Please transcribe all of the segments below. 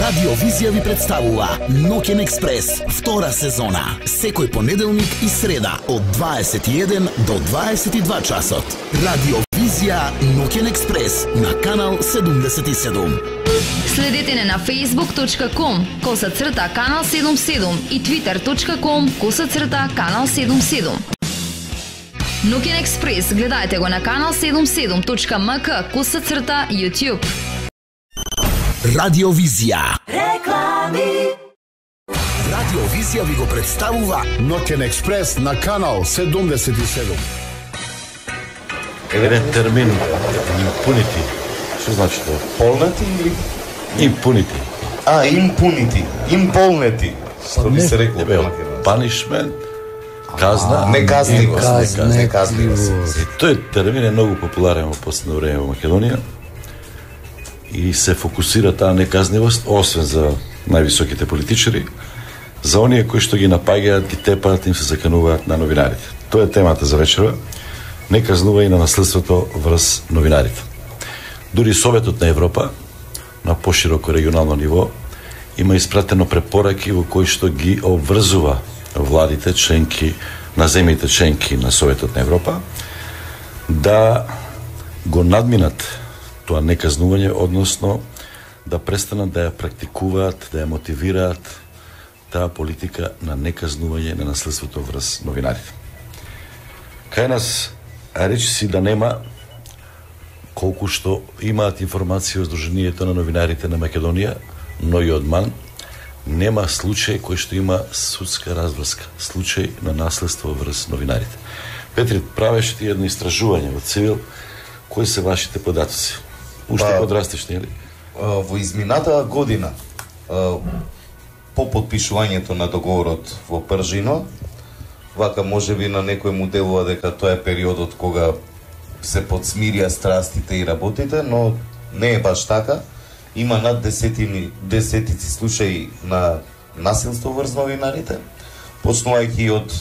Радио Визија ви представува Ноќен експрес, втора сезона, секој понеделник и среда од 21 до 22 часот. Радио Визија Ноќен експрес на канал 77. Следете не на facebook.com/канал 77 и twitter.com/канал 77. Ноќен експрес гледајте го на канал 77.mk/YouTube. Радио Визија. Реклами. Радио Визија ви го представува Ноќен експрес на канал 77. Еден термин impunity. Што значи тоа? Полнати или Impunity. импунити, имполнети. Што би се рекло Ебе, punishment, казна, неказливост. И тој термин е многу популарен во последно време во Македонија и се фокусира таа неказнивост, освен за највисоките политичари, за оние кои што ги напаѓаат, ги тепаат, им се закануваат на новинарите. Тоа е темата за вечера. Не казнува и на наследството врз новинарите. Дури Советот на Европа, на пошироко регионално ниво, има испратено препораки во кои што ги обврзува владите, членки на земјите членки на Советот на Европа, да го надминат тоа неказнување, односно да престанат да ја практикуваат, да ја мотивираат таа политика на неказнување на наследството врз новинарите. Кај нас речи си да нема, колку што имаат информација од Сдруженијето на новинарите на Македонија, но и од МАН, нема случај кој што има судска разврска, случај на наследство врз новинарите. Петри, правеше ти едно истражување во Цивил, кои се вашите податоци? Уште подрастеш, нели? Во изминатата година, по подпишувањето на договорот во Пржино, вака можеби на некој му делува дека тоа е периодот кога се подсмирија страстите и работите, но не е баш така. Има над десетици случаи на насилство врз новинарите, почнувајќи од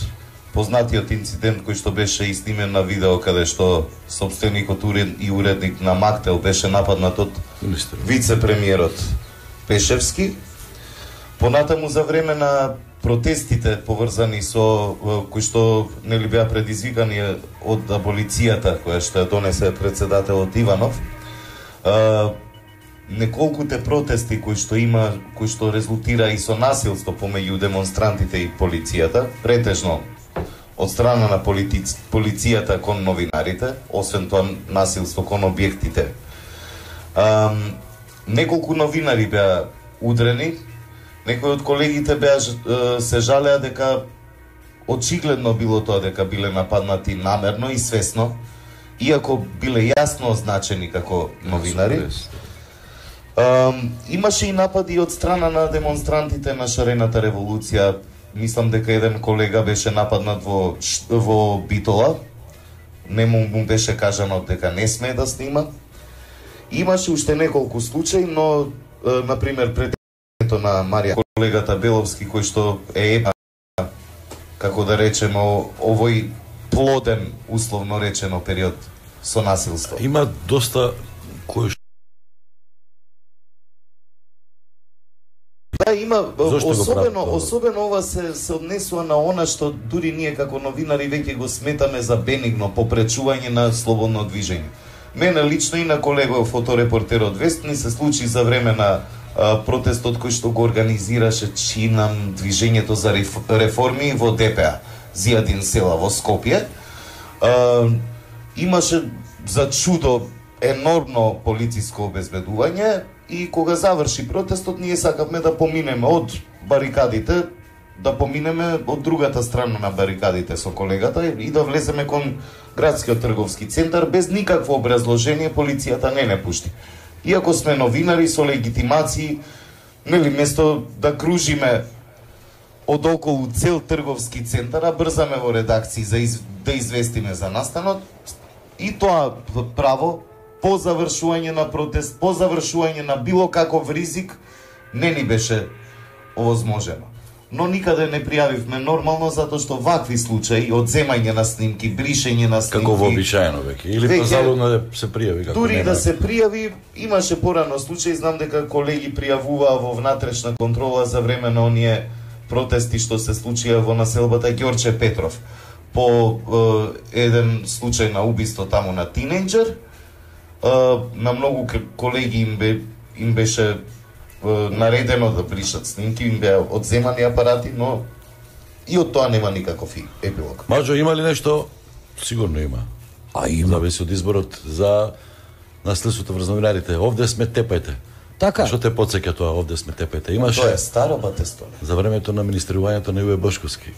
познатиот инцидент кој што беше и снимен на видео, каде што сопственикот и уредник на Мактел беше нападнат од вице-премиерот Пешевски. Понатаму за време на протестите поврзани со кои што нели беа предизвикани од аболицијата која што ја донесе претседателот Иванов, неколкуте протести кои што резултира и со насилство помеѓу демонстрантите и полицијата, претежно од страна на полицијата кон новинарите, освен тоа насилство кон објектите. Неколку новинари беа удрени, некои од колегите се жалеа дека очигледно било тоа дека биле нападнати намерно и свесно, иако биле јасно означени како новинари. Имаше и напади од страна на демонстрантите на шарената револуција. Мислам дека еден колега беше нападнат во Битола. Не му беше кажано дека не смее да снима. Имаше уште неколку случаи, но например пред на Марија, колегата Беловски, кој што е како да речеме овој плоден, условно речено, период со насилство. Има доста кои Да, има, особено ова се однесува на она што дури ние како новинари веќе го сметаме за бенигно попречување на слободно движење. Мене лично и на колегов фоторепортерот Вестни се случи за време на протестот кој што го организираше чинам движењето за реформи во ДПА, Зијадин села во Скопје. Имаше за чудо енормно полициско обезбедување и кога заврши протестот ние сакавме да поминеме од барикадите, да поминеме од другата страна на барикадите со колегата и да влеземе кон градскиот трговски центар без никакво образложение. Полицијата не пушти. Иако сме новинари со легитимации, нели, место да кружиме од околу цел трговски центар, а брзаме во редакции да известиме за настанот, и тоа право по завршување на протест, по завршување на било каков ризик, не ни беше овозможено. но никаде не пријавивме нормално, затоа што вакви случаи, одземање на снимки, бришење на снимки... Како вообичаено веќе, или позалудно да се пријави, како дури да се пријави, имаше порано случаи, знам дека колеги пријавуваа во внатрешна контрола за време на оние протести што се случија во населбата Ѓорче Петров, по еден случај на убиство таму на тинејџер. На многу колеги им беше наредено да бришат снимки, им беа одземани апарати, но и од тоа нема никаков епилог. Маџо, има ли нешто? Сигурно има. Има. Зависи од изборот за наследството врз новинарите. Овде сме, тепајте. Така. Што те потсеќа тоа, овде сме, тепајте? Имаше Тоа е старо батестоне. за времето на министрувањето на Јуе Бошковски.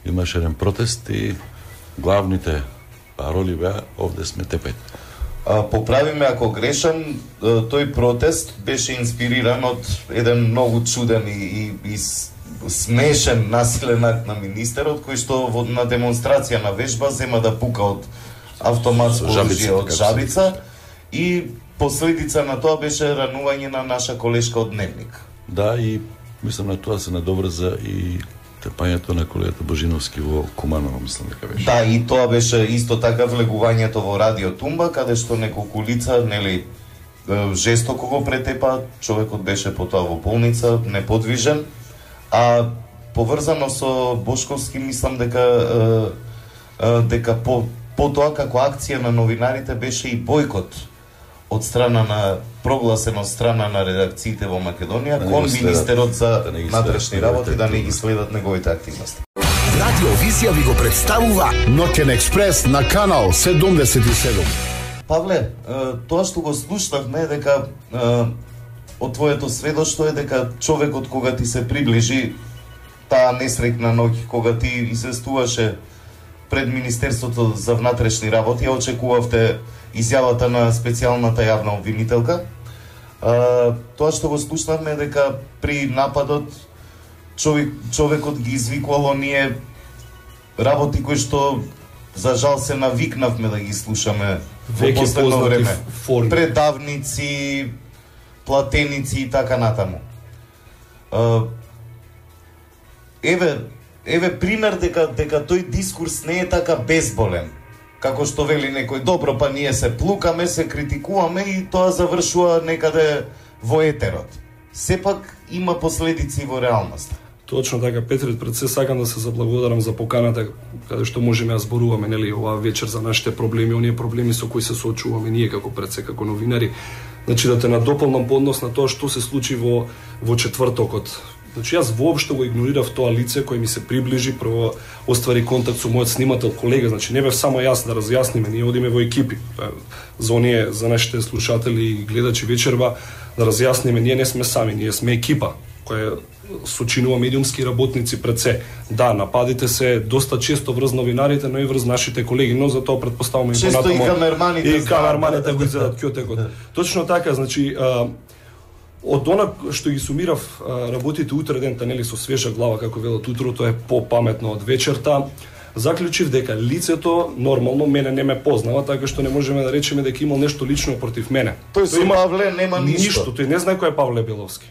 Имаше еден протест и главните пароли беа овде сме, тепајте. Поправиме ако грешам, тој протест беше инспириран од еден многу чуден и смешен насилен акт на министерот, кој што на демонстрација на вежба зема да пука од автоматско оружје од жабица и последица на тоа беше ранување на наша колешка од Дневник. Да, и мислам на тоа се надоврза и тепањето на колегата Божиновски во Куманово, мислам дека беше. Да, и тоа беше исто така влегувањето во Радио Тумба, каде што неколку лица, нели, жестоко го претепа, човекот беше потоа во болница, неподвижен, а поврзано со Бошковски мислам дека потоа како акција на новинарите беше и бойкот од страна на прогласен од страна на редакциите во Македонија кон министерот за внатрешни работи да не ги следат неговите активности. Радио Визија ви го представува Ноќен експрес на канал 77. Павле, тоа што го слушнавме дека од твоето сведоштво е дека човекот кога ти се приближи таа несреќна ноќ кога ти известуваше пред Министерството за внатрешни работи, ја очекувавте изјавата на специјалната јавна обвинителка. Тоа што го слушнавме дека при нападот човекот ги извикувал оние работи кои што за жал се навикнавме да ги слушаме во последно време. Предавници, платеници и така натаму. Еве пример дека тој дискурс не е така безболен. Како што вели некој, добро, па ние се плукаме, се критикуваме и тоа завршува некаде во етерот. Сепак има последици во реалноста. Точно така, Петри, пред се сакам да се заблагодарам за поканата каде што можеме да зборуваме, нели, оваа вечер за нашите проблеми, оние проблеми со кои се соочуваме ние како пред се, како новинари. Значи да те надополнам по однос на тоа што се случи во четвртокот. Значи јас воопшто го игнорирав тоа лице кој ми се приближи, прво оствари контакт со мојот снимател колега, значи не бев само јас да разјасниме, ние одиме во екипи. За оние, за нашите слушатели и гледачи вечерва, да разјасниме, ние не сме сами, ние сме екипа која сочинува медиумски работници пред се. Да, нападите се доста често врз новинарите, но и врз нашите колеги, но за тоа претпоставуваме и понатамо. Често и камерманите го изедат ќотекот. Точно така, значи од она што ги сумирав работите утре дента, нели, со свежа глава, како велат утрото е попаметно од вечерта, заклучив дека лицето нормално мене не ме познава, така што не можеме да речеме дека имал нешто лично против мене. Тој со Павле нема ништо. Тој не знае кој е Павле Беловски.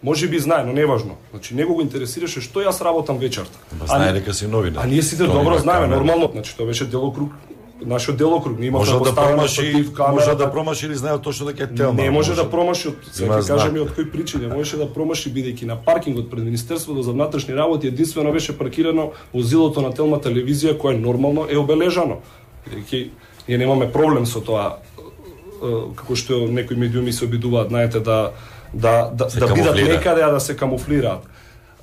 Може би знае, но не важно. Значи него го интересираше што јас работам вечерта. Знае дека си новинар. А ние сите добро знаеме, нормално, значи тоа беше делокруг, нашиот делокруг, не имаше да промаши, може да промаши или знае точно дека е телма. Не може да промаши, се ќе кажеме од кои причини, можеше да промаши бидејќи на паркингот пред Министерството за внатрешни работи единствено беше паркирано возилото на Телма телевизија кое нормално е обележано. Бидејќи ние немаме проблем со тоа, како што некои медиуми се обидуваат, знаете, да бидат некаде, а да се камуфлираат.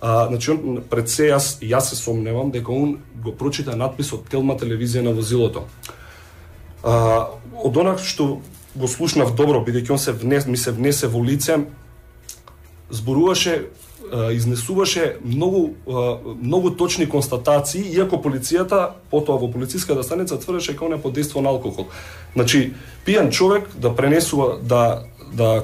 Значи, пред се јас се сомневам дека он го прочита надписот Телма телевизија на возилото. Од она што го слушнав добро, бидејќи он ми се внесе во лице, зборуваше, изнесуваше многу точни констатации, иако полицијата, потоа во полициската станица тврдеше дека он е под дејство на алкохол. Значи, пијан човек да пренесува, да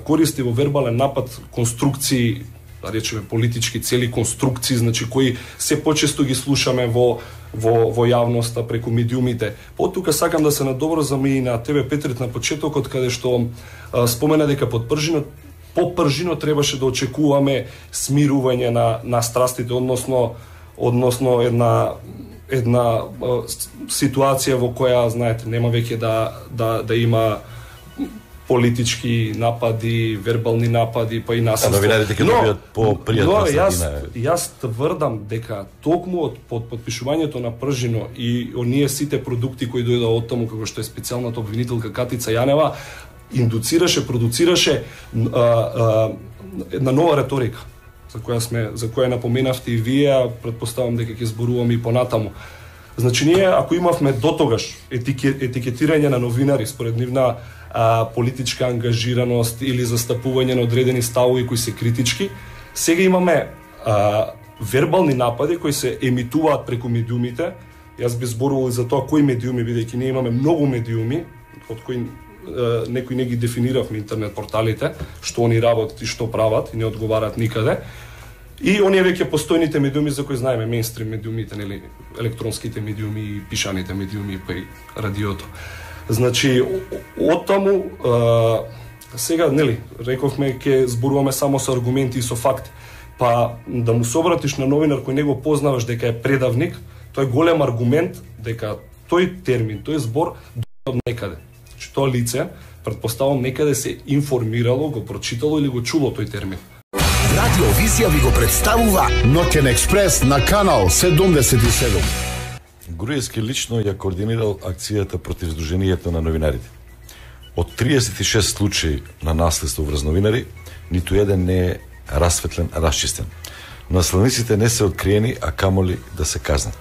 користи во вербален напад конструкции, да речеме политички цели конструкции, значи кои се почесто ги слушаме во јавноста преку медиумите. Потука сакам да се надоврзам и на тебе, Петрит, на почетокот, каде што спомена дека под пржинот попржино требаше да очекуваме смирување на страстите, односно една ситуација во која, знаете, нема веќе да има политички напади, вербални напади, па и насилство. Новинарите ќе добијат по-пријатна средина. Јас тврдам дека токму од подпишувањето на пржино и оние сите продукти кои дојдоа од таму, како што е специјалната обвинителка Катица Јанева, индуцираше, продуцираше една нова реторика, за која напоменавте и вие, претпоставам дека ќе зборуваме и понатаму. Значи, ние, ако имавме дотогаш етикетирање на новинари според нивна политичка ангажираност или застапување на одредени ставови кои се критички, сега имаме вербални напади кои се емитуваат преку медиумите. Јас би зборувал и за тоа кои медиуми, бидејќи ние имаме многу медиуми, од кои некои не ги дефиниравме интернет порталите, што они работат и што прават и не одговараат никаде. И оние веќе постојните медиуми за кои знаеме, мејнстрим медиумите, нели, електронските медиуми, пишаните медиуми, па и радиото. Значи, оттаму, сега, нели, рековме, ќе зборуваме само со аргументи и со факти. Па, да му се обратиш на новинар кој не го познаваш дека е предавник, тој е голем аргумент дека тој термин, тој збор дојде од некаде. Значи, тоа лице, претпоставам, некаде се информирало, го прочитало или го чуло тој термин. Радио Визија ви го представува Ноќен експрес на канал 77. Груевски лично ја координирал акцијата против Сдруженијето на новинарите. Од 36 случаи на наследство врз новинари, ниту еден не е расветлен, расчистен. Наследниците не се откриени, а камоли да се казнат.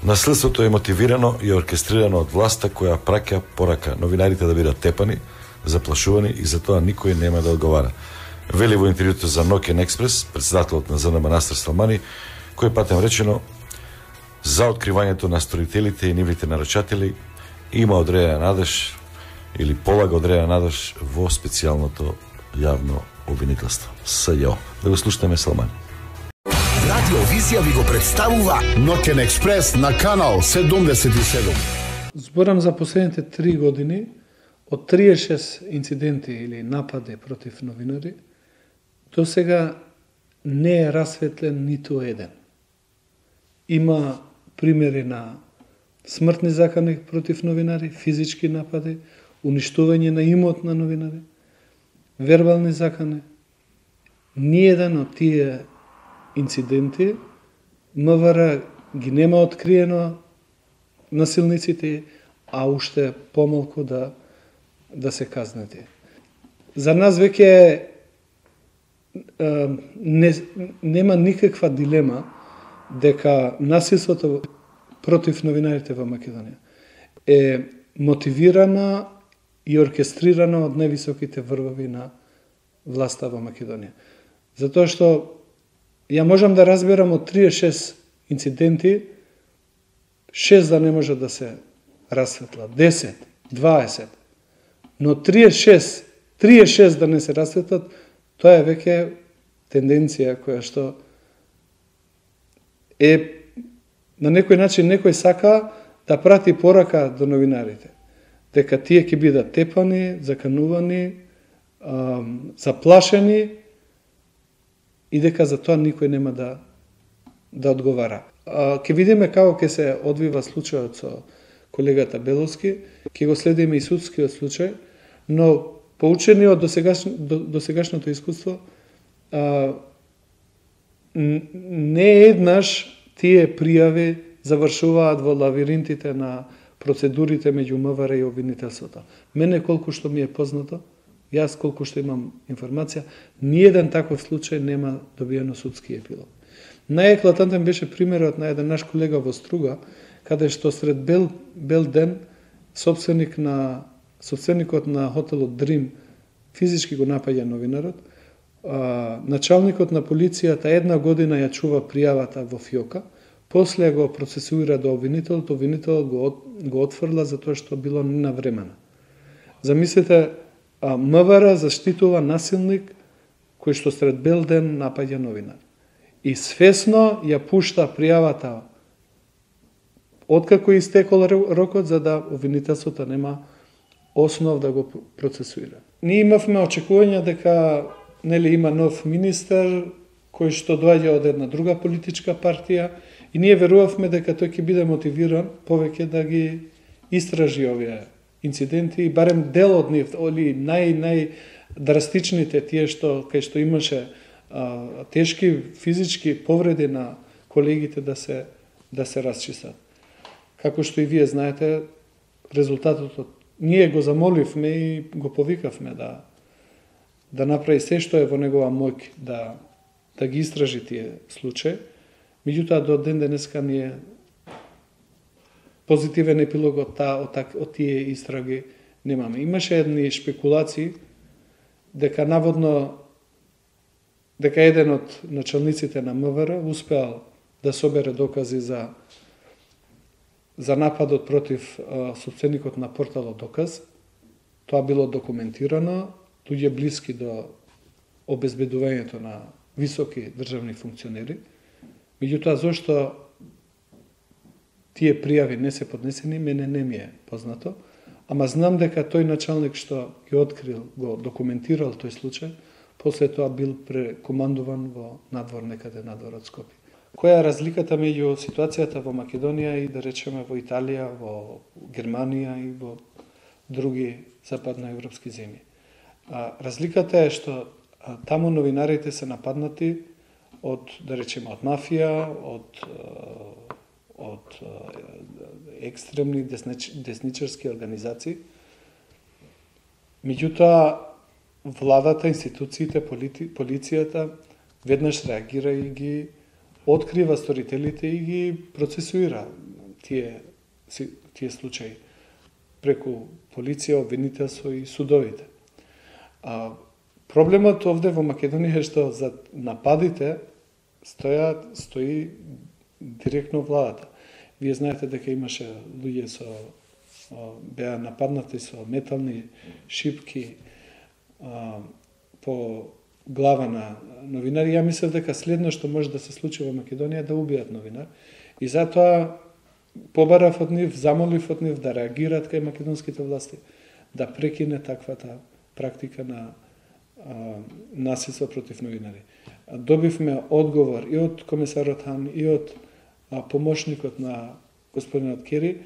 Наследството е мотивирано и оркестрирано од власта која праќа порака новинарите да бидат тепани, заплашувани и за тоа никој нема да одговара. Вели во интервјуто за Ноќен експрес претседателот на ЗНМ Настер Салмани, кој патем речено за откривањето на сторителите и нивните нарачатели има одредена надеж или полага одредена надеж во специјалното јавно обвинителство СЈО. Да го слушаме Салмани. Радио Визија ви го представува Ноќен експрес на канал 77. Зборам за последните 3 години од 36 инциденти или напади против новинари, до сега не е расветлен ниту еден. Има примери на смртни закани против новинари, физички напади, уништување на имот на новинари, вербални закани. Ниеден од тие инциденти МВР ги нема откриено насилниците, а уште помалку да се казнати. За нас веќе нема никаква дилема дека насилството против новинарите во Македонија е мотивирана и оркестрирана од највисоките врвови на власта во Македонија. Затоа што ја можам да разберам од 36 инциденти, 6 да не може да се расветла, 10, 20, но 36 да не се расветлат, тоа е веќе тенденција која што е на некој начин некој сака да прати порака до новинарите, дека тие ќе бидат тепани, заканувани, заплашени и дека за тоа никој нема да одговара. Ќе видиме како ќе се одвива случајот со колегата Беловски, ќе го следиме и судскиот случај, но поучени од досегашното искуство, не еднаш тие пријави завршуваат во лавиринтите на процедурите меѓу МВР и обвинителството. Мене колку што ми е познато, јас колку што имам информација, ниеден таков случај нема добиено судски епилог. Најеклатантен беше примерот на еден наш колега во Струга, каде што сред бел ден собственикот на хотелот Дрим физички го напаѓа новинарот, началникот на полицијата 1 година ја чува пријавата во ФИОКа, после го процесуира до обвинителот го отфрла затоа што било ненавремено. Замислете, МВР заштитува насилник кој што сред бел ден напаѓа новинар. И свесно ја пушта пријавата откако истекол рокот, за да обвинителството нема основ да го процесуира. Ние имавме очекување дека нели има нов министер кој што доаѓа од една друга политичка партија и ние верувавме дека тој ќе биде мотивиран повеќе да ги истражи овие инциденти и барем дел од нив, или најдрастичните тие што кај што имаше тешки физички повреди на колегите да се расчистат. Како што и вие знаете, резултатот ние го замоливме и го повикавме да направи се што е во негова моќ да ги истражи тие случаи. Меѓутоа до ден денеска ние позитивен епилог од тие истраги немаме. Имаше едни шпекулации дека наводно дека еден од началниците на МВР успеал да собере докази за нападот против собственикот на порталот Доказ. Тоа било документирано, луѓе блиски до обезбедувањето на високи државни функционери. Меѓутоа, зошто тие пријави не се поднесени, мене не ми е познато, ама знам дека тој началник што ги открил, го документирал тој случај, после тоа бил прекомандуван во надвор некаде надвор од Скопје. Која е разликата меѓу ситуацијата во Македонија и да речеме во Италија, во Германија и во други западноевропски земји? Разликата е што таму новинарите се нападнати од, да речеме, од мафија, од екстремни десничарски организации. Меѓутоа, владата, институциите, полицијата веднаш реагира и ги открива сторителите и ги процесуира тие случаи преку полиција, обвинителство и судовите. Проблемот овде во Македонија е што за нападите стои директно владата. Вие знаете дека имаше луѓе беа нападнати со метални шипки по глава на новинари. Ја мислев дека следно што може да се случи во Македонија е да убијат новинар. И затоа побарав од нив, замолив од нив да реагираат кај македонските власти, да прекине таквата практика на насилство против новинари. Добивме одговор и од комесарот Хан, и од помошникот на господинот Кери,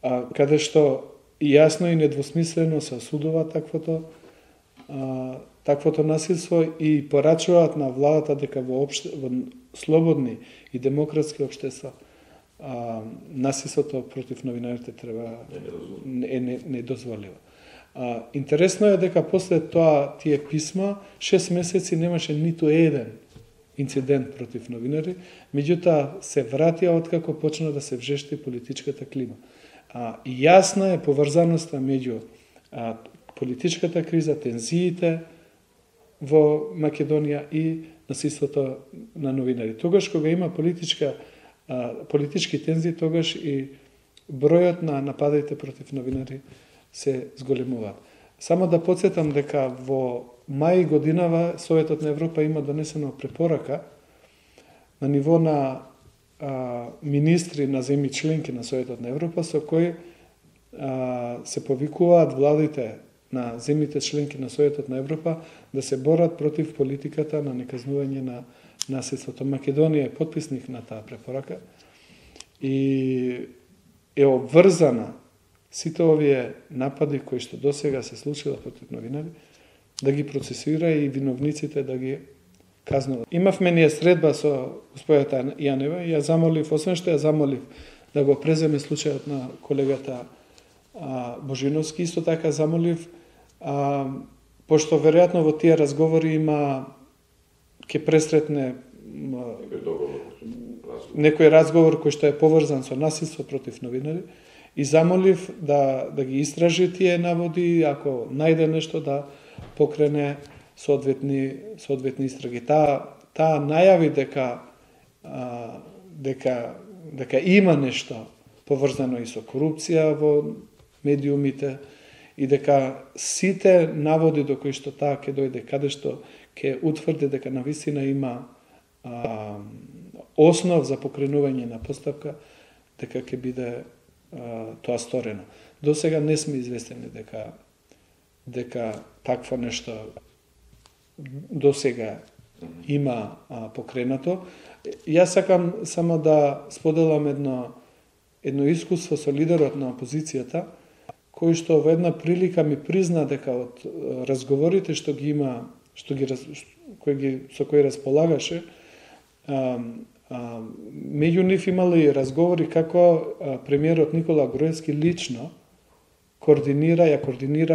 каде што јасно и недвосмислено се осудува таквото насилство и порачуваат на владата дека во слободни и демократски општества насилството против новинарите треба недозволено. Интересно е дека после тоа тие писма 6 месеци немаше ниту еден инцидент против новинари, меѓутоа се вратија откако почна да се вжешти политичката клима. И јасна е поврзаноста меѓу политичката криза, тензиите во Македонија и насилството на новинари. Тогаш кога има политички тензии, тогаш и бројот на нападите против новинари се зголемуваат. Само да подсетам дека во мај годинава Советот на Европа има донесено препорака на ниво на министри на земји членки на Советот на Европа, со кој се повикуваат владите на земјите членки на Советот на Европа да се борат против политиката на неказнување на насилството. Македонија е потписник на таа препорака и е обврзана сите овие напади кои што досега се случила против новинари да ги процесуира и виновниците да ги казнува. Имавме ние средба со господјата Јанева и ја замолив, освен што ја замолив да го преземе случајот на колегата Божиновски, исто така замолив, пошто веројатно во тие разговори ќе пресретне некој разговор кој што е поврзан со насилство против новинари, и замолив да ги истражи тие наводи, ако најде нешто да покрене соодветни истраги. Таа најави дека има нешто поврзано и со корупција во медиумите и дека сите наводи до кои што таа ќе дојде, каде што ќе утврди дека навистина има основ за покренување на постапка, дека ќе биде тоа сторено. До сега не сме известени дека такво нешто до сега има покренато. Јас сакам само да споделам едно искуство со лидерот на опозицијата, кој што во една прилика ми призна дека од разговорите што ги има, со кои располагаше, меѓу нив имали разговори како премиерот Никола Груевски лично координира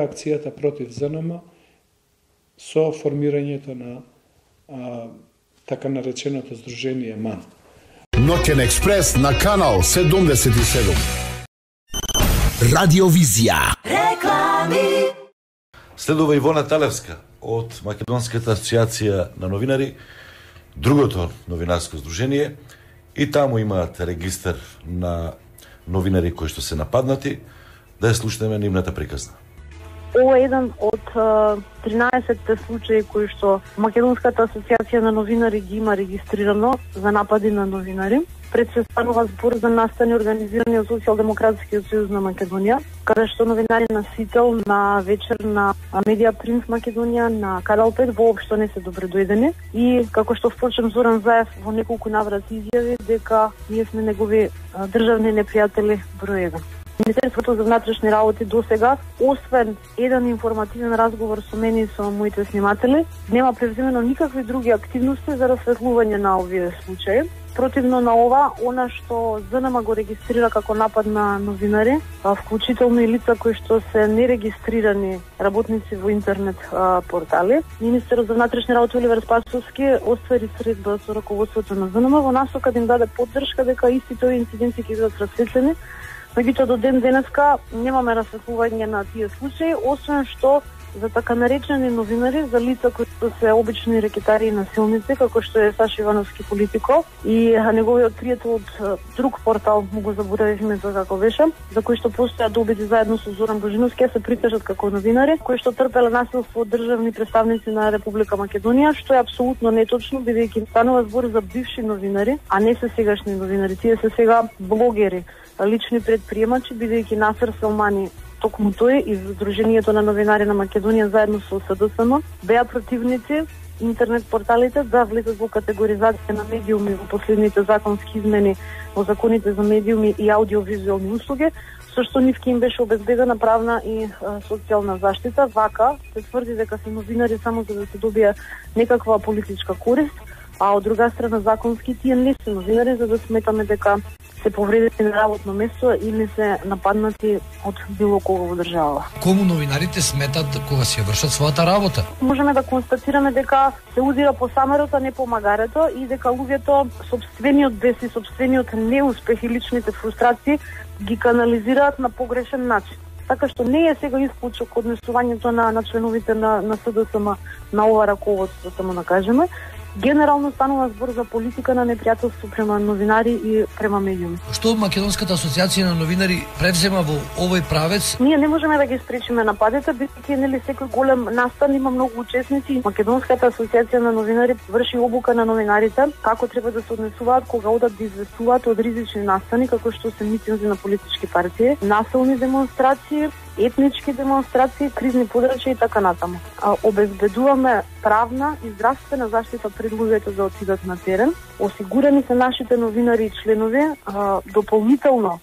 акцијата против ЗНМ со формирањето на така нареченото здружение МАН. Ноќен експрес на канал 77. Радиовизија. Реклами. Следува Ивона Талевска од Македонската асоциација на новинари, другото новинарско здружение, и таму имаат регистар на новинари кои што се нападнати. Да ја слушнеме нивната приказна. Ова е еден од 13 случаи кои што Македонската асоциација на новинари ги има регистрирано за напади на новинари. Пред се станува збор за настани организирани од Социјалдемократскиот сојуз на Македонија, каде што новинари на Сител, на Вечер, на Медија Принц Македонија, на Канал 5 воопшто не се добре дојдени. И како што впрочем Зоран Заев во неколку наврати изјави дека ние сме негови државни непријатели број 1. Министерството за внатрешни работи досега, освен еден информативен разговор со мене и со моите сниматели, нема превземено никакви други активности за расветлување на овие случаи. Противно на ова, она што ЗНМ го регистрира како напад на новинари, вклучително и лица кои што се нерегистрирани работници во интернет портали, министерот за внатрешни работи Оливер Спасовски оствари средба со раководството на ЗНМ во насока да им даде поддршка дека истите овие инциденти ќе бидат расветлени. Меѓутоа до ден денеска немаме расветлување на тие случаи, освен што за така наречени новинари, за лица кои се обични рекетари и насилници, како што е Саша Ивановски Политико и неговиот пријател од друг портал, му го заборавив името како беше, за кои што постојат добити заедно со Зоран Божиновски, се притежат како новинари, кои што трпеле насилство од државни представници на Република Македонија, што е апсолутно неточно, бидејќи станува збор за бивши новинари, а не се сегашни новинари. Тие се сега блогери, лични предприемачи, бидејќи Насер Селмани, токму тој и Здруженијето на новинари на Македонија заедно со СДСМ беа противници интернет порталите да влезат во категоризација на медиуми во последните законски измени во законите за медиуми и аудиовизуелни услуги, со што нив ќе им беше обезбедена правна и социјална заштита. Вака се тврди дека се новинари само за да се добие некаква политичка корист, а од друга страна законски тие не се новинари за да сметаме дека се повредени на работно место или се нападнати од било кого во држава. Кому новинарите сметат кога си ја вршат својата работа? Можеме да констатираме дека се удира по самерот, а не по магарето и дека луѓето сопствениот бес и сопствениот неуспех и личните фрустрации ги канализираат на погрешен начин. Така што не е сега исклучок однесувањето на членовите на СДСМ на ова раководство, само да кажеме. Генерално станува збор за политика на непријателство према новинари и према медиуми. Што Македонската асоциација на новинари превзема во овој правец? Ние не можеме да ги спречиме нападите, бидејќи нели секој голем настан има многу учесници. Македонската асоциација на новинари врши обука на новинарите како треба да се однесуваат кога одат да известуваат од ризични настани, како што се митинзи на политички партии, насилни демонстрации, етнички демонстрации, кризни подрачја и така натаму. Обезбедуваме правна и здравствена заштита пред луѓето да отидат на терен. Осигурани се нашите новинари и членови дополнително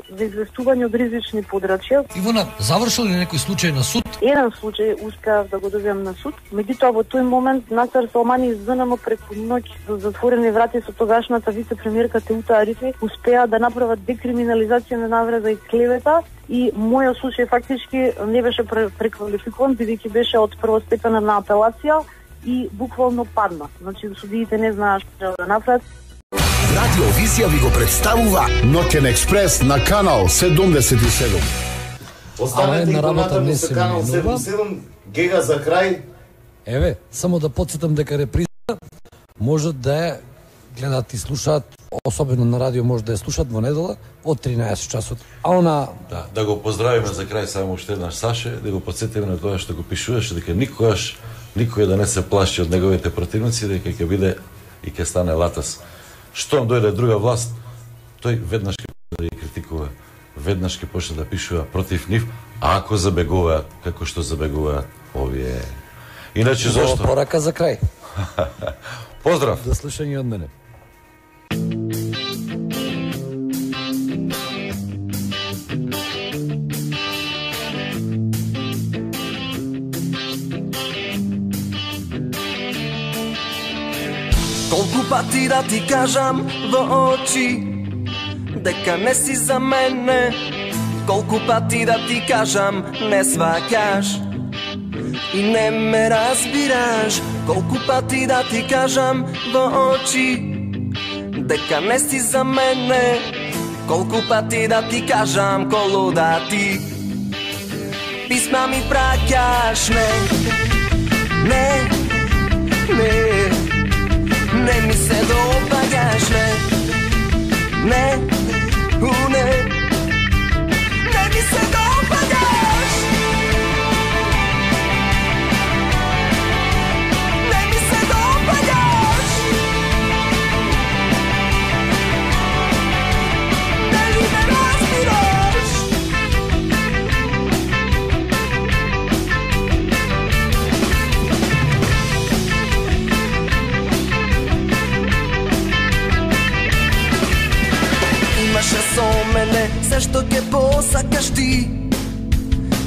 за известување од ризични подрачја. Ивона, завршил ли некој случај на суд? Еден случај успеав да го добиам на суд. Меѓутоа во тој момент Насер Салмани и ЗНМ преку ноќ за затворени врати со тогашната вице-премиерка Теута Арифи успеа да направат декриминализација на навреда и клевета. И мојот случај фактички не беше преквалификуван, бидејќи беше од првостепена на апелација и буквално падна. Значи, судиите не знаат што да направат. Радиовизија ви го представува Ноќен експрес на канал 77. Останете на работа не се канал менува. 77, гега за крај. Еве, само да потсетам дека реприза можат да ја гледаат и слушаат, особено на радио може да ја слушаат во недела од 13 часот. А она Да го поздравиме за крај само уште еднаш Саше, да го потсетиме на тоа што го пишуваше, дека никој да не се плаши од неговите противници, дека ќе биде и ќе стане латас. Штом дојде друга власт, тој веднаш ќе почне да ги критикува, веднаш ќе почне да пишува против нив, ако забегуваат како што забегуваат овие. Иначе зашто? Порака за крај. Поздрав. До слушање од мене. Колку пати да ти кажам во очи дека не си за мене, колку пати да ти кажам не сваќаш и не ме разбираш, колку пати да ти кажам во очи дека не си за мене, колку пати да ти кажам колу да ти писма ми праќаш, не ми се допаѓаш, не ми се допаѓаш, не ми се допаѓаш, дали ме разбираш? Имаше со мене се што ќе посакаш ти,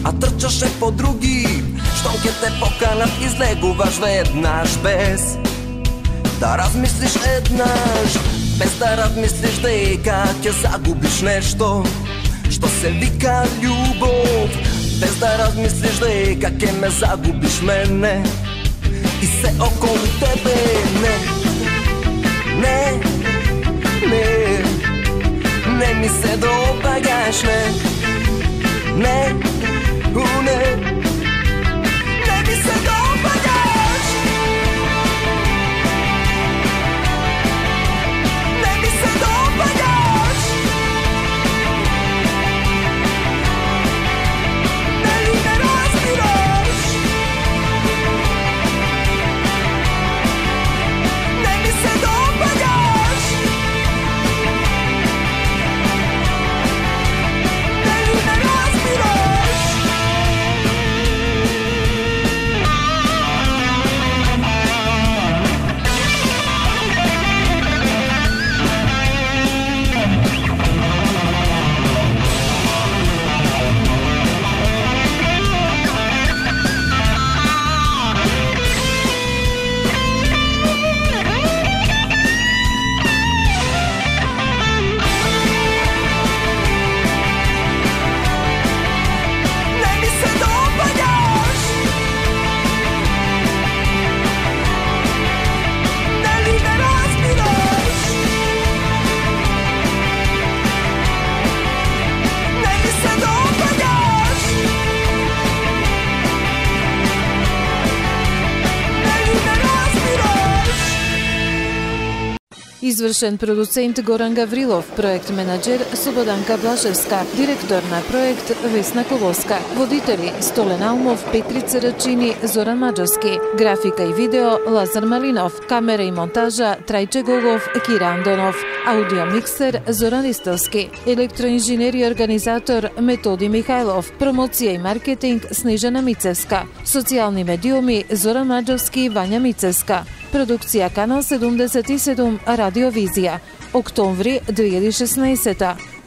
а трчаше по други, што ќе те поканат излегуваш веднаш без да размислиш еднаш, без да размислиш дека ќе загубиш нешто што се вика љубов, без да размислиш дека ќе ме загубиш мене и се околу тебе, не ми се допаѓаш, не ми се допаѓаш, не ми се допаѓаш, дали ме разбираш? Не ми се допаѓаш, дали ме разбираш? Не ми се допаѓаш, дали ме разбираш? Не ми се допаѓаш, дали ме разбираш? Извршен продуцент Горан Гаврилов, проект менаџер Слободанка Блажевска, директор на проект Весна Колоска, водители Столен Алмов, Петрица Рачини, Зоран Маџарски, графика и видео Лазар Малинов, камера и монтажа Трајче Голов, Кира Андонов, аудио миксер Зоран Истовски, електроинженер и организатор Методи Михајлов, промоција и маркетинг Снежана Мицевска, социјални медиуми Зоран Маџарски и Вања Мицевска, продукција Канал 77 Радиовизија, октомври 2016.